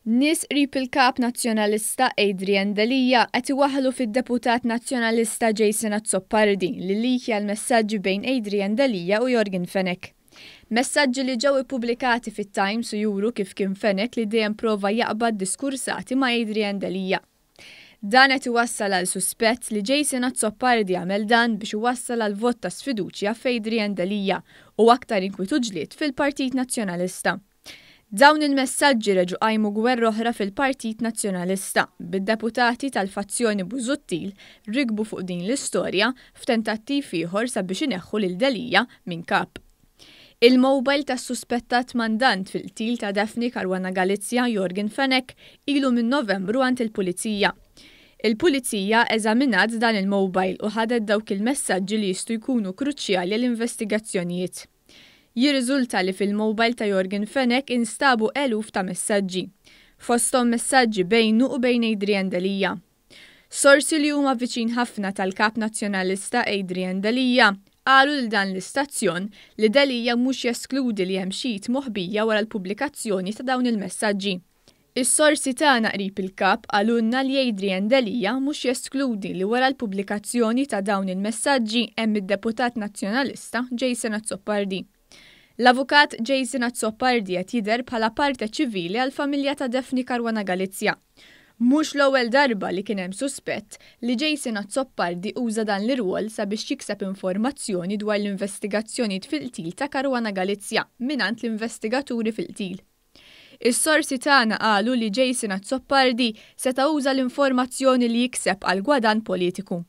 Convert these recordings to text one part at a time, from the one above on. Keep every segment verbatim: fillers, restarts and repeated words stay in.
Nies qrib il-kap Nazzjonalista Adrian Delia qed iwaħħlu fid-deputat Nazzjonalista Jason Azzopardi li llikja l-messaġġi bejn Adrian Delia u Yorgen Fenech. Messaġġi li ġew ippubblikati fit-Times u juru kif kien Fenech li dejjem prova jaqbad diskursati ma' Adrian Delia. Dan qed iwassal għal suspett li Jason Azzopardi għamel dan biex iwassal għal vot ta' sfiduċja f'Adrian Delia u aktar inkwiet u ġlied fil-Partit Nazzjonalista. Dawn il-messaġġi reġgħu qajmu gwerra oħra fil-Partit Nazzjonalista, bid-deputati tal-fazzjoni Busuttil rikbu fuq din l-istorja f'tentattiv ieħor sabiex ineħħu lil Delia minn kap. Il-mobile tas-suspettat mandant fil-qtil ta' Daphne Caruana Galizia, Yorgen Fenech, ilu minn Novembru għand il-Pulizija. Il-Pulizija eżaminat dan il-mobile u ħadet dawk il-messaġġi li jistgħu jkunu kruċjali għall-investigazzjonijiet. Jirriżulta li fil-mobile ta' Yorgen Fenech instabu eluf ta' messaġġi, fosthom messaġġi bejnu u bejn Adrian Delia. Sorsi li huma viċin ħafna tal-kap Nazzjonalista Adrian Delia qalu lil dan l-istazzjon li Delia mhux jeskludi li hemm xi moħbija wara l-pubblikazzjoni ta' dawn il-messaġġi. Is-sorsi tagħna qrib il-kap qalulna li Adrian Delia mhux jeskludi li wara l-pubblikazzjoni ta' dawn il-messaġġi hemm id-deputat Nazzjonalista Jason Azzopardi. L-avukat Jason Azzopardi qed jidher bħala parte ċivili għall-familja ta' Daphne Caruana Galizia. Mhux l-ewwel darba li kien hemm suspett li Jason Azzopardi uża dan l-irwol sabiex jikseb informazzjoni dwar l-investigazzjoni fil-qtil ta' Caruana Galizia mingħand l-investigaturi fil-qtil. Is-sorsi tagħna qalu li Jason Azzopardi seta' uża l-informazzjoni li jikseb għal gwadann politiku.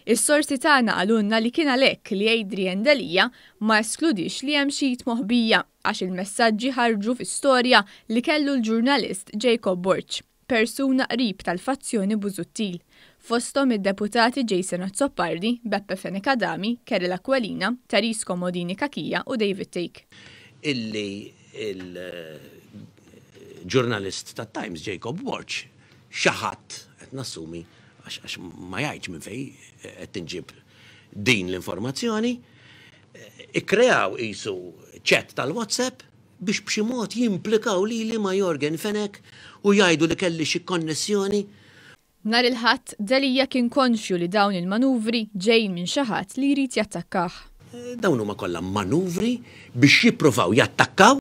Is-sorsi tagħna qalulna li kien għalhekk li Adrian Delia ma eskludix li hemm xi moħbija, għax il-messaġġi ħarġu fi storja li kellu l-ġurnalist Jacob Borg, persuna qrib tal-fazzjoni Busuttil, fosthom id-deputati Jason Azzopardi, Beppe Fenech Adami, Karol Aquilina, Therese Comodini Cachia u David Thake. Illi il-ġurnalist ta' Times Jacob Borg xi ħadd qed nassumi, għax ma jgħidx minn fej qed tinġib din l-informazzjoni, ikkreaw qisu chat tal-WhatsApp biex b'xi mod jimplikaw lili ma' Yorgen Fenech u jgħidu li kelli xi konnessjoni. Nhar il-Ħadd, Delia kien konxju li dawn il-manuvri ġejjin minn xi ħadd li jrid jattakkah. Dawn huma kollha manuvri biex jippruvaw jattakkaw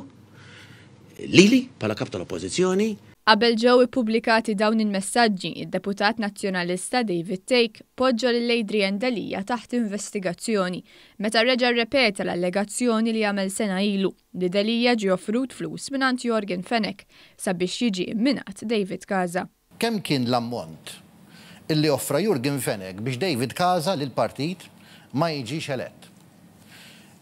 lili bħala kap tal-Oppożizzjoni. Qabel ġew ippubblikati dawn il-messaġġi, id-deputat Nazzjonalista David Thake poġġa lil Adrian Delia taħt investigazzjoni meta reġa' rrepeta l-allegazzjoni li għamel sena ilu li Delia ġie offrut flus mingħand Yorgen Fenech sabiex jiġi imminat David Casa. Kemm kien l-ammont illi offra Yorgen Fenech biex David Casa lil partit ma jiġix elett?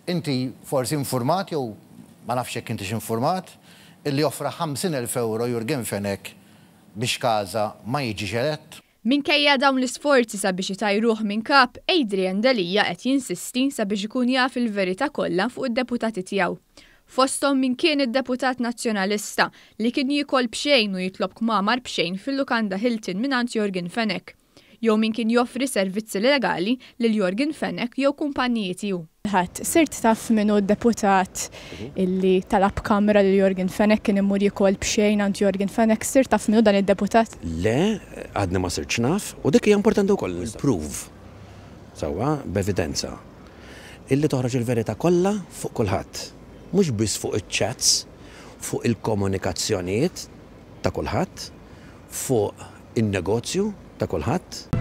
Inti forsi informat jew ma nafx jekk intix informat illi offra ħamsin elf euro Yorgen Fenech biex Casa ma jiġix elett? Minkejja dawn l-isforzi sabiex itajruh minn kap, Adrian Delia qed jinsisti sabiex ikun jaf il-verità kollha fuq id-deputati tiegħu. Fosthom min kien id-deputat Nazzjonalista li kien jiekol b'xejn u jitlob kmamar b'xejn fil-lukanda Hilton mingħand Yorgen Fenech, jew min kien joffri servizzi legali lil Yorgen Fenech jew kumpaniji tiegħu. Ħadd, sirt taf min hu d-deputat illi talab kamra lil Yorgen Fenech, kien imur jiekol b'xejn għand Yorgen Fenech, sirt taf min hu dan id-deputat? Le, għadni ma sirtx naf, u dik hija importanti wkoll proof. Sewwa, b'evidenza. Illi toħroġ il-verità kollha fuq kulħadd. Mhux biss fuq iċ-chats, fuq il-komunikazzjonijiet ta' kulħadd, fuq in-negozju ta' kulħadd.